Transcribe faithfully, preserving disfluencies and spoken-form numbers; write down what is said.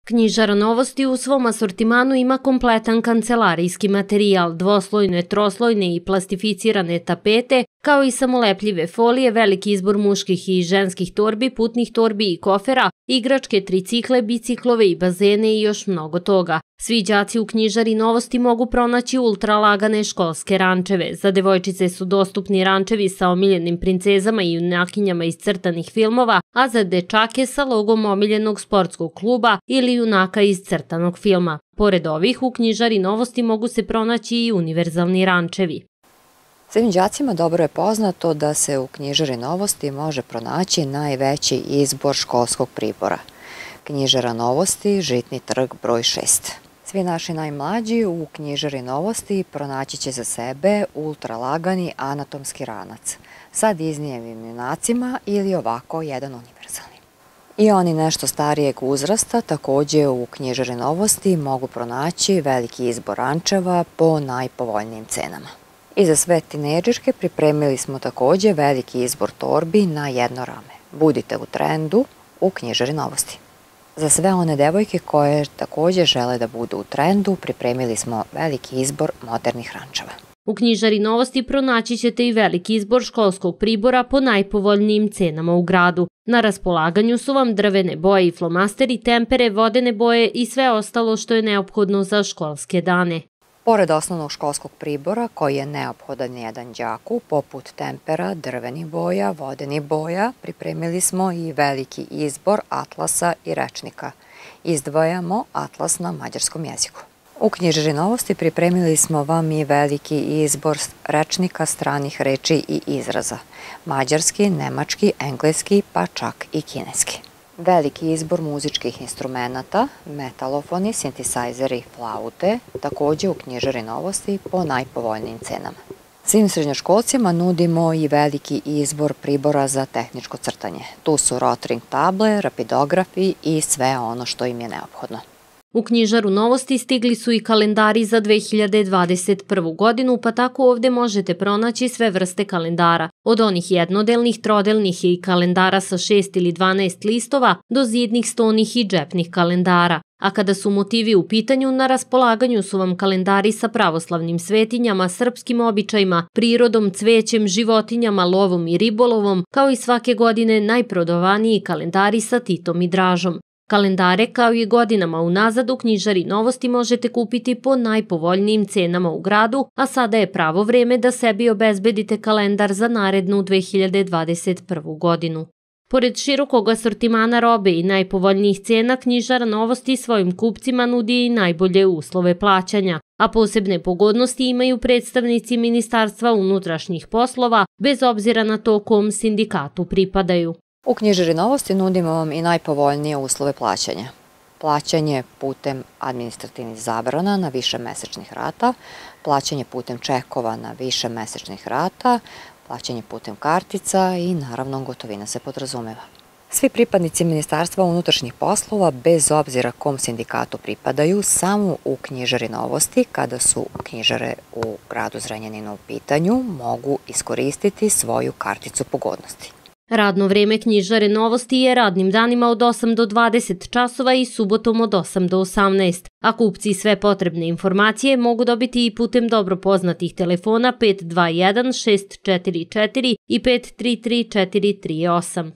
Knjižara Novosti u svom asortimanu ima kompletan kancelarijski materijal, dvoslojne, troslojne i plastificirane tapete, kao i samolepljive folije, veliki izbor muških i ženskih torbi, putnih torbi i kofera, igračke, tricikle, biciklove i bazene i još mnogo toga. Svi đaci u Knjižari Novosti mogu pronaći ultralagane školske rančeve. Za devojčice su dostupni rančevi sa omiljenim princezama i junakinjama iz crtanih filmova, a za dečake sa logom omiljenog sportskog kluba ili junaka iz crtanog filma. Pored ovih, u Knjižari Novosti mogu se pronaći i univerzalni rančevi. Svim đacima dobro je poznato da se u Knjižari Novosti može pronaći najveći izbor školskog pribora. Knjižara Novosti, Žitni trg broj šest. Svi naši najmlađi u Knjižari Novosti pronaći će za sebe ultralagani anatomski ranac sa Disneyevim junacima ili ovako jedan univerzalni. I oni nešto starijeg uzrasta također u Knjižari Novosti mogu pronaći veliki izbor rančeva po najpovoljnijim cenama. I za sve tinejdžerke pripremili smo također veliki izbor torbi na jedno rame. Budite u trendu u Knjižari Novosti. Za sve one devojke koje također žele da budu u trendu, pripremili smo veliki izbor modernih rančeva. U Knjižari Novosti pronaći ćete i veliki izbor školskog pribora po najpovoljnijim cenama u gradu. Na raspolaganju su vam drvene boje i flomasteri, tempere, vodene boje i sve ostalo što je neophodno za školske dane. Pored osnovnog školskog pribora koji je neophodan jedan đaku, poput tempera, drvenih boja, vodenih boja, pripremili smo i veliki izbor atlasa i rečnika. Izdvajamo atlas na mađarskom jeziku. U Knjižari Novosti pripremili smo vam i veliki izbor rečnika stranih reči i izraza. Mađarski, nemački, engleski, pa čak i kineski. Veliki izbor muzičkih instrumenata, metalofoni, sintisajzeri, flaute, također u Knjižari Novosti po najpovoljnijim cenama. Svim srednjoškolcima nudimo i veliki izbor pribora za tehničko crtanje. Tu su rotring table, rapidografi i sve ono što im je neophodno. U Knjižaru Novosti stigli su i kalendari za dve hiljade dvadeset prvu godinu, pa tako ovdje možete pronaći sve vrste kalendara, od onih jednodelnih, trodelnih i kalendara sa šest ili dvanaest listova do zidnih, stonih i džepnih kalendara. A kada su motivi u pitanju, na raspolaganju su vam kalendari sa pravoslavnim svetinjama, srpskim običajima, prirodom, cvećem, životinjama, lovom i ribolovom, kao i svake godine najprodovaniji kalendari sa Titom i Dražom. Kalendare kao i godinama unazad u Knjižari Novosti možete kupiti po najpovoljnijim cenama u gradu, a sada je pravo vreme da sebi obezbedite kalendar za narednu dve hiljade dvadeset prvu godinu. Pored širokog asortimana robe i najpovoljnijih cena, Knjižara Novosti svojim kupcima nudi i najbolje uslove plaćanja, a posebne pogodnosti imaju predstavnici Ministarstva unutrašnjih poslova, bez obzira na to kom sindikatu pripadaju. U Knjižari Novosti nudimo vam i najpovoljnije uslove plaćanja. Plaćanje putem administrativnih zabrana na više mesečnih rata, plaćanje putem čekova na više mesečnih rata, plaćanje putem kartica i naravno gotovina se podrazumeva. Svi pripadnici Ministarstva unutrašnjih poslova, bez obzira kom sindikatu pripadaju, samo u Knjižari Novosti, kada su knjižare u gradu Zrenjaninu u pitanju, mogu iskoristiti svoju karticu pogodnosti. Radno vreme Knjižare Novosti je radnim danima od osam do dvadeset časova i subotom od osam do osamnaest, a kupci sve potrebne informacije mogu dobiti i putem dobro poznatih telefona pet dva jedan šest četiri četiri i pet tri tri četiri tri osam.